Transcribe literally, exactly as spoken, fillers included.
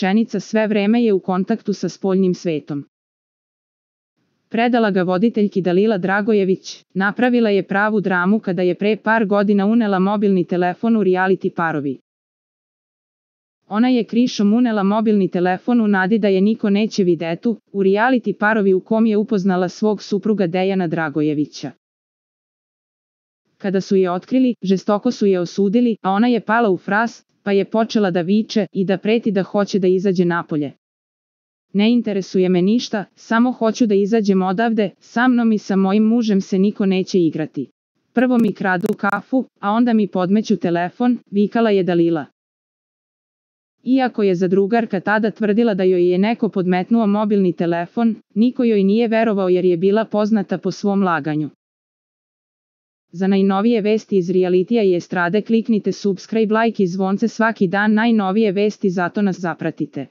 rečenica sve vreme je u kontaktu sa spoljnim svetom. Predala ga voditeljki Dalila Dragojević, napravila je pravu dramu kada je pre par godina unela mobilni telefon u reality Parovi. Ona je krišom unela mobilni telefon u nadi da je niko neće videtu, u reality Parovi u kom je upoznala svog supruga Dejana Dragojevića. Kada su je otkrili, žestoko su je osudili, a ona je pala u fras, pa je počela da viče i da preti da hoće da izađe napolje. Ne interesuje me ništa, samo hoću da izađem odavde, sa mnom i sa mojim mužem se niko neće igrati. Prvo mi kradu kafu, a onda mi podmeću telefon, vikala je Dalila. Iako je zadrugarka tada tvrdila da joj je neko podmetnuo mobilni telefon, niko joj nije verovao jer je bila poznata po svom laganju. Za najnovije vesti iz realitija i estrade kliknite subscribe, like i zvonce svaki dan, najnovije vesti, zato nas zapratite.